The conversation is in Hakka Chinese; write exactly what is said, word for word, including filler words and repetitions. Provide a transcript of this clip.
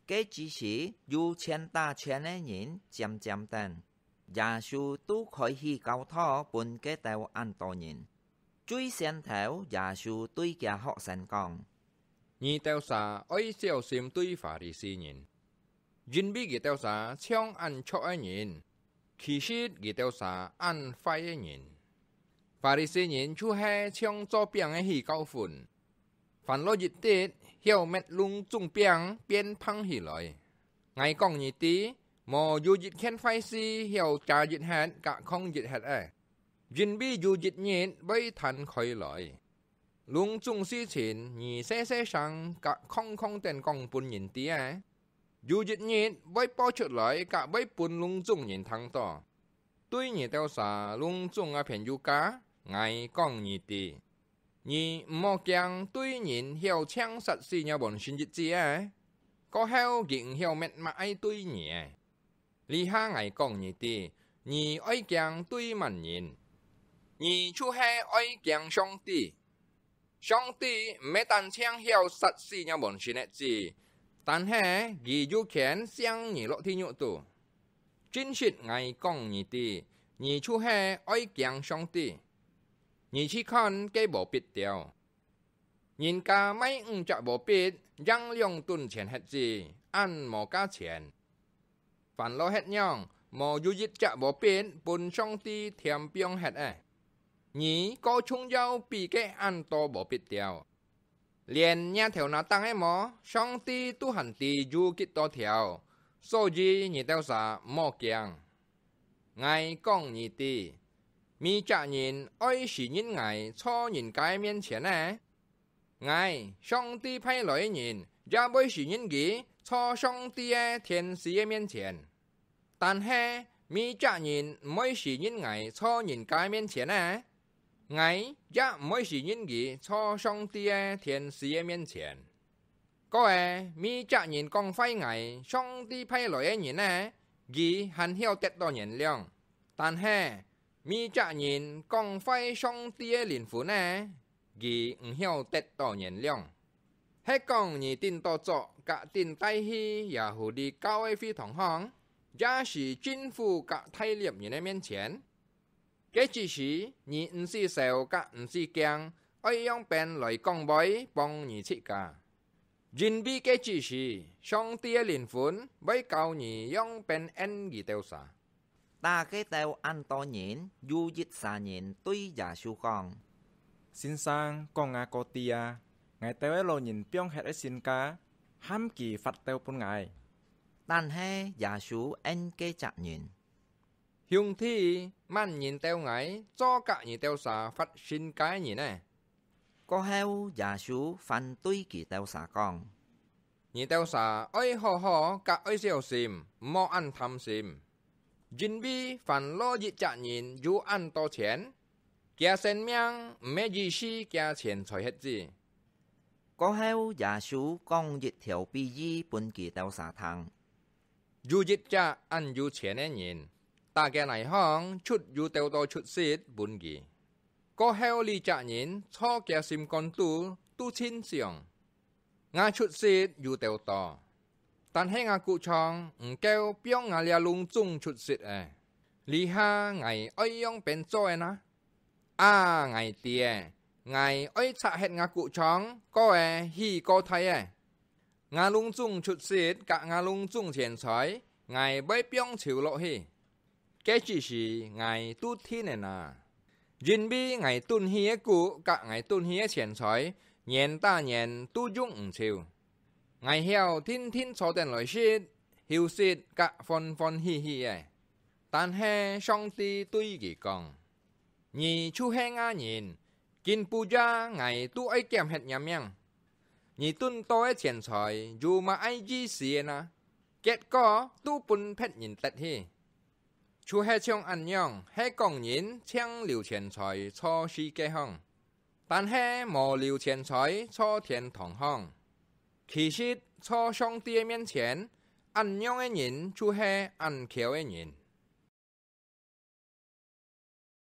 該之時，有錢打錢个人漸漸等，耶穌都開起教導分該兜恁多人。最先頭，耶穌對厥學生講：「你兜儕愛小心對法利賽人，因為佢兜儕像恁黜个人，其實佢兜儕恁壞个人。法利賽人就係像做餅个起教訓， 翻落一滴，曉搣攏總餅變忒起來。𠊎講你知，無有一件壞事曉遮一歇甲囥一歇个，因為有一日會彈開來。攏總事情你細細聲甲囥囥等講分人知个，有一日會報出來甲會分攏總人聽到。對你兜儕攏總个朋友家，𠊎講你知， 你毋好驚對人曉淨殺死若本身一子个，過後佢毋曉搣麼个對你个。這下𠊎講你知，你愛驚對麼人？你就係愛驚上帝。上帝毋係單淨曉殺死若本身一子，但係佢有權㧐你落地獄肚。 真實𠊎講你知，你就係愛驚上帝。你去看該禾稗條，人家賣五隻禾稗，贏兩噸錢核子，恁無價錢。翻落歇樣，無有一隻禾稗分上帝添放核个。你過重要比該恁多禾稗條。 連若頭那頂个毛，上帝都還知有幾多條，所以你兜儕毋好驚。𠊎講你知，麼隻人愛承認𠊎坐人家个面前呢？𠊎，上帝派來个人，也會承認佢坐上帝个天使个面前。 但係，麼隻人毋會承認𠊎坐人家个面前呢？𠊎也毋會承認佢坐上帝个天使个面前。過仔，麼隻人講壞𠊎上帝派來个人呢？佢還曉得到原諒。但係，麼隻人講壞上帝个靈魂呢？ 佢毋曉得到原諒。係講你頂到著甲頂戴去耶戶裡教个會堂項，也係政府甲大利人个面前？該之時，你毋使愁甲毋使驚，愛仰般來講話幫你自家。因為該之時，上帝个靈魂會教你仰般應佢兜儕。 打該兜恁多人，有一儕人對耶穌講：「先生，講𠊎過知啊！𠊎兜个老人放忒个身家，喊佢發兜分𠊎。」但係耶穌應該隻人：「兄弟，麼人鬥𠊎做甲你兜儕發身家个人呢？」 過後，耶穌反對佢兜儕講：「你兜儕愛好好甲愛小心，毋好恁貪心。因為凡落一隻人有恁多錢，厥生命毋係以示厥錢財核子。」過後，耶穌講一條比喻分佢兜儕聽： 有一隻恁有錢个人，打厥泥項出有兜多出息分佢。過後這隻人坐厥心肝肚都盡想：「吾出息有兜多，但係吾谷場毋夠放吾這攏總出息仔。這下𠊎愛仰般做仔呢？啊，𠊎知仔，𠊎愛拆忒吾谷場，過仔起過大仔。 吾攏總出息甲吾攏總錢財，𠊎會放手落去。該之時，𠊎都定仔哪！因為𠊎囤起个谷甲𠊎囤起个錢財，年打年都用毋揫。𠊎曉定定坐等來食，休息甲歡歡喜喜仔。」但係上帝對佢講： 「你就係惡人，今晡夜𠊎都愛撿忒若命。你囤到个錢財有麼个意思仔哪？結果都分別人得去。」就係像恁樣，係講人淨留錢財坐世界項，但係無留錢財坐天堂項。其實坐上帝个面前，恁樣个人就係恁巧个人。